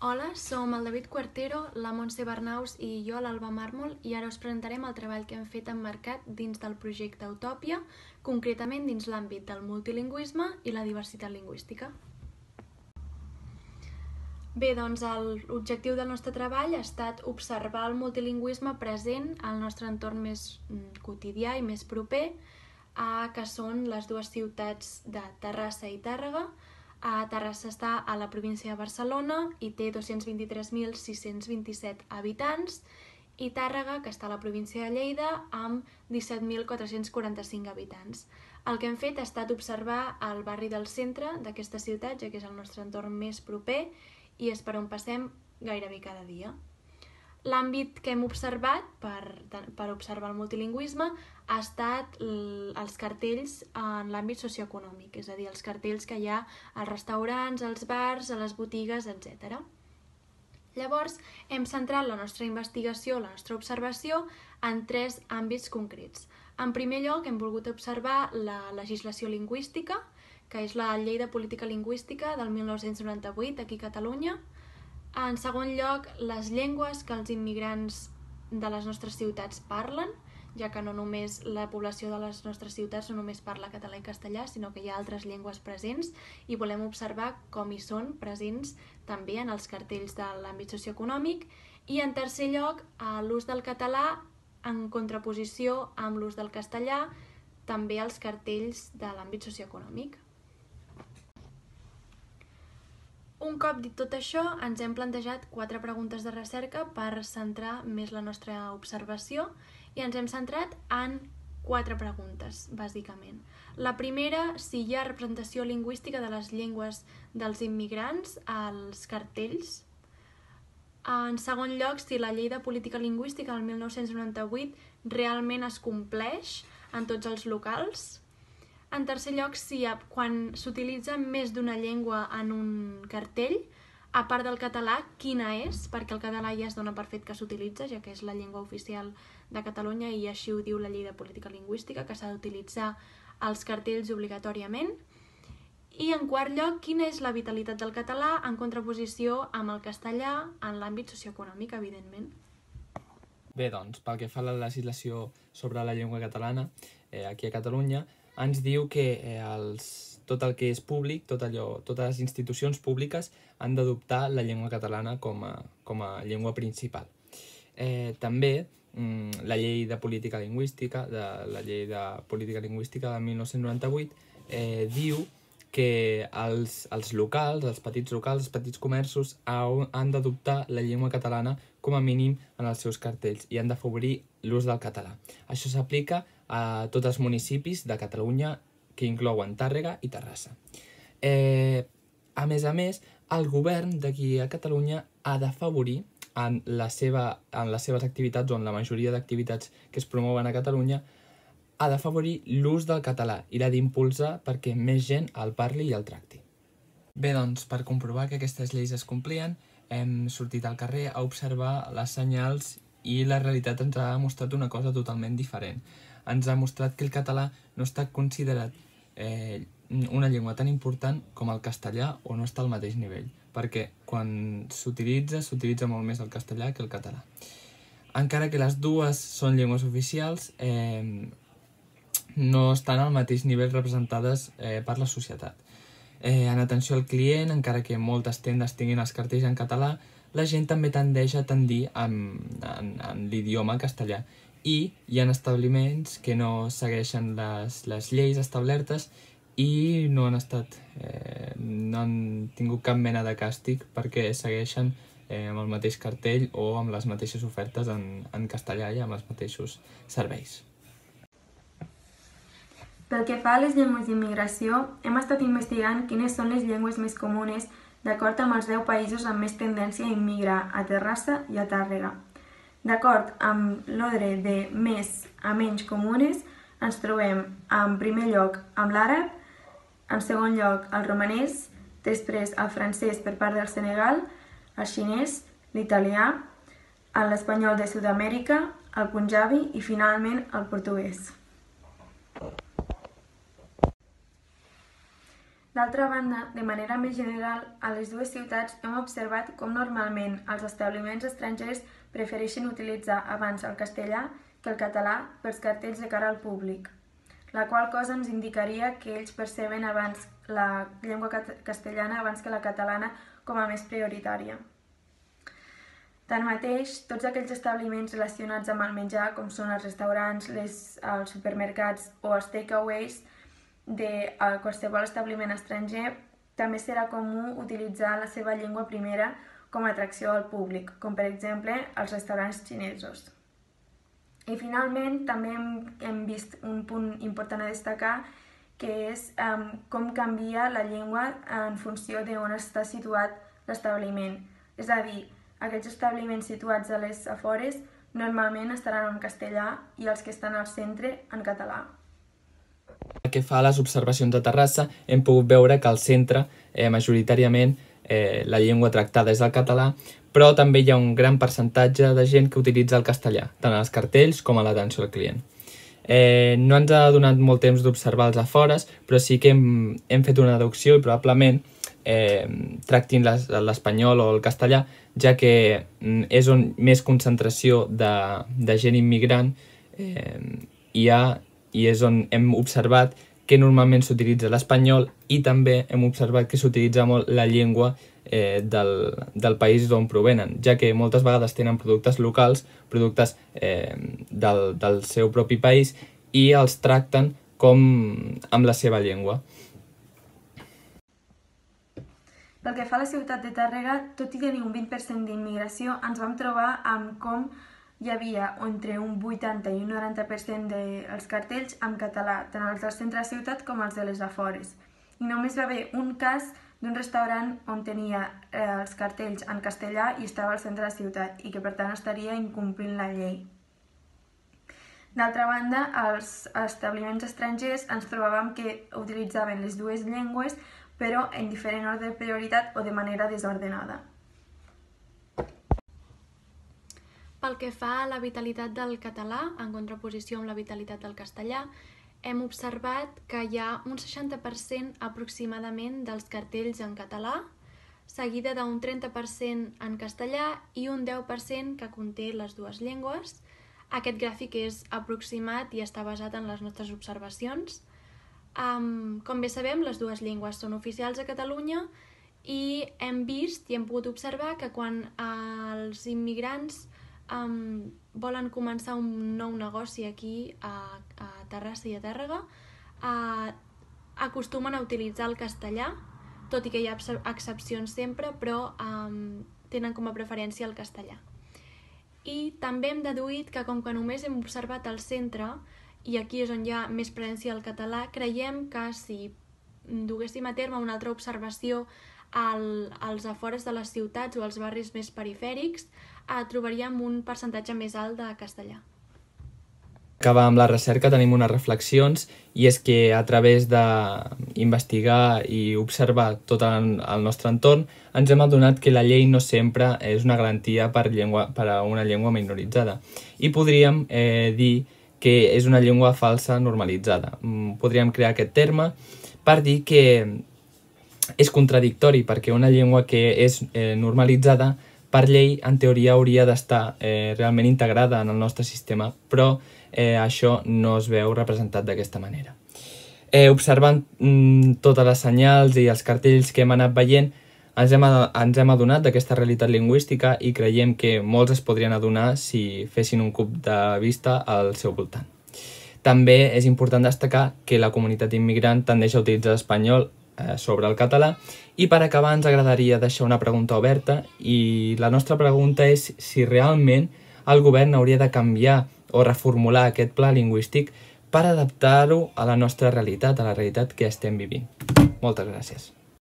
Hola, som el David Cuartero, la Montse Bernaus i jo, l'Alba Màrmol, i ara us presentarem el treball que hem fet emmarcat dins del projecte Utòpia, concretament dins l'àmbit del multilingüisme i la diversitat lingüística. Bé, doncs l'objectiu del nostre treball ha estat observar el multilingüisme present al nostre entorn més quotidià i més proper, que són les dues ciutats de Terrassa i Tàrrega. Terrassa està a la província de Barcelona i té 223.627 habitants, i Tàrrega, que està a la província de Lleida, amb 17.445 habitants. El que hem fet ha estat observar el barri del centre d'aquesta ciutat, ja que és el nostre entorn més proper i és per on passem gairebé cada dia. L'àmbit que hem observat per observar el multilingüisme ha estat els cartells en l'àmbit socioeconòmic, és a dir, els cartells que hi ha als restaurants, als bars, a les botigues, etc. Llavors, hem centrat la nostra investigació, la nostra observació, en tres àmbits concrets. En primer lloc, hem volgut observar la legislació lingüística, que és la Llei de Política Lingüística del 1998 aquí a Catalunya. En segon lloc, les llengües que els immigrants de les nostres ciutats parlen, ja que no només la població de les nostres ciutats no només parla català i castellà, sinó que hi ha altres llengües presents i volem observar com hi són presents també en els cartells de l'àmbit socioeconòmic. I en tercer lloc, l'ús del català en contraposició amb l'ús del castellà, també als cartells de l'àmbit socioeconòmic. Un cop dit tot això, ens hem plantejat 4 preguntes de recerca per centrar més la nostra observació i ens hem centrat en 4 preguntes, bàsicament. La primera, si hi ha representació lingüística de les llengües dels immigrants als cartells. En segon lloc, si la Llei de Política Lingüística del 1998 realment es compleix en tots els locals. En tercer lloc, si quan s'utilitza més d'una llengua en un cartell, a part del català, quina és? Perquè el català ja es dona per fet que s'utilitza, ja que és la llengua oficial de Catalunya i així ho diu la Llei de Política Lingüística, que s'ha d'utilitzar els cartells obligatòriament. I en quart lloc, quina és la vitalitat del català en contraposició amb el castellà en l'àmbit socioeconòmic, evidentment. Bé, doncs, pel que fa a la legislació sobre la llengua catalana, aquí a Catalunya, ens diu que tot el que és públic, totes les institucions públiques han d'adoptar la llengua catalana com a llengua principal. També la Llei de Política Lingüística, la Llei de Política Lingüística del 1998, diu que els locals, els petits comerços, han d'adoptar la llengua catalana com a mínim en els seus cartells i han d'afavorir l'ús del català. Això s'aplica a tots els municipis de Catalunya que inclouen Tàrrega i Terrassa. A més, el govern d'aquí a Catalunya ha d'afavorir en les seves activitats o en la majoria d'activitats que es promouen a Catalunya, ha d'afavorir l'ús del català i l'ha d'impulsar perquè més gent el parli i el tracti. Bé, doncs, per comprovar que aquestes lleis es complien, hem sortit al carrer a observar les senyals i la realitat ens ha mostrat una cosa totalment diferent. Ens ha mostrat que el català no està considerat una llengua tan important com el castellà o no està al mateix nivell, perquè quan s'utilitza molt més el castellà que el català. Encara que les dues són llengües oficials, no estan al mateix nivell representades per la societat. En atenció al client, encara que moltes tendes tinguin els cartells en català, la gent també tendeix a tendir en l'idioma castellà i hi ha establiments que no segueixen les lleis establertes i no han tingut cap mena de càstig perquè segueixen amb el mateix cartell o amb les mateixes ofertes en castellà i amb els mateixos serveis. Pel que fa a les llengües d'immigració, hem estat investigant quines són les llengües més comunes d'acord amb els 10 països amb més tendència a immigrar a Terrassa i a Tàrrega. D'acord amb l'ordre de més a menys comunes, ens trobem en primer lloc amb l'àrab, en segon lloc el romanès, després el francès per part del Senegal, el xinès, l'italià, l'espanyol de Sud-amèrica, el punjabi i finalment el portuguès. D'altra banda, de manera més general, a les dues ciutats hem observat com normalment els establiments estrangers prefereixen utilitzar abans el castellà que el català pels cartells de cara al públic, la qual cosa ens indicaria que ells perceben abans la llengua castellana abans que la catalana com a més prioritària. Tanmateix, tots aquells establiments relacionats amb el menjar, com són els restaurants, els supermercats o els takeaways de qualsevol establiment estranger, també serà comú utilitzar la seva llengua primera com a atracció al públic, com per exemple els restaurants xinesos. I finalment també hem vist un punt important a destacar, que és com canvia la llengua en funció d'on està situat l'establiment. És a dir, aquells establiments situats a les afores normalment estaran en castellà i els que estan al centre en català. Pel que fa a les observacions de Terrassa, hem pogut veure que al centre, majoritàriament, la llengua tractada és el català, però també hi ha un gran percentatge de gent que utilitza el castellà, tant als cartells com a l'atenció al client. No ens ha donat molt temps d'observar els afores, però sí que hem fet una deducció i probablement tractin l'espanyol o el castellà, ja que és on més concentració de gent immigrant hi ha, i és on hem observat que normalment s'utilitza l'espanyol i també hem observat que s'utilitza molt la llengua del país d'on provenen, ja que moltes vegades tenen productes locals, productes del seu propi país i els tracten com amb la seva llengua. Pel que fa a la ciutat de Tàrrega, tot i tenir un 20% d'immigració, ens vam trobar amb com hi havia entre un 80 i un 90% dels cartells en català, tant els del centre de la ciutat com els de les afores. I només va haver un cas d'un restaurant on tenia els cartells en castellà i estava al centre de la ciutat i que per tant estaria incomplint la llei. D'altra banda, als establiments estrangers ens trobàvem que utilitzaven les dues llengües però en diferent ordre de prioritat o de manera desordenada. Pel que fa a la vitalitat del català, en contraposició amb la vitalitat del castellà, hem observat que hi ha un 60% aproximadament dels cartells en català, seguida d'un 30% en castellà i un 10% que conté les dues llengües. Aquest gràfic és aproximat i està basat en les nostres observacions. Com bé sabem, les dues llengües són oficials a Catalunya i hem vist i hem pogut observar que quan els immigrants volen començar un nou negoci aquí a Terrassa i a Tàrrega, acostumen a utilitzar el castellà, tot i que hi ha excepcions sempre, però tenen com a preferència el castellà. I també hem deduït que com que només hem observat el centre, i aquí és on hi ha més presència del català, creiem que si duguéssim a terme una altra observació als afores de les ciutats o als barris més perifèrics, trobaríem un percentatge més alt de castellà. Acabar amb la recerca tenim unes reflexions i és que a través d'investigar i observar tot el nostre entorn ens hem adonat que la llei no sempre és una garantia per a una llengua minoritzada i podríem dir que és una llengua falsa normalitzada. Podríem crear aquest terme per dir que és contradictori perquè una llengua que és normalitzada per llei en teoria hauria d'estar realment integrada en el nostre sistema, però això no es veu representat d'aquesta manera. Observant totes les senyals i els cartells que hem anat veient, ens hem adonat d'aquesta realitat lingüística i creiem que molts es podrien adonar si fessin un cop de vista al seu voltant. També és important destacar que la comunitat immigrant tendeix a utilitzar l'espanyol sobre el català i per acabar ens agradaria deixar una pregunta oberta i la nostra pregunta és si realment el govern hauria de canviar o reformular aquest pla lingüístic per adaptar-ho a la nostra realitat, a la realitat que estem vivint. Moltes gràcies.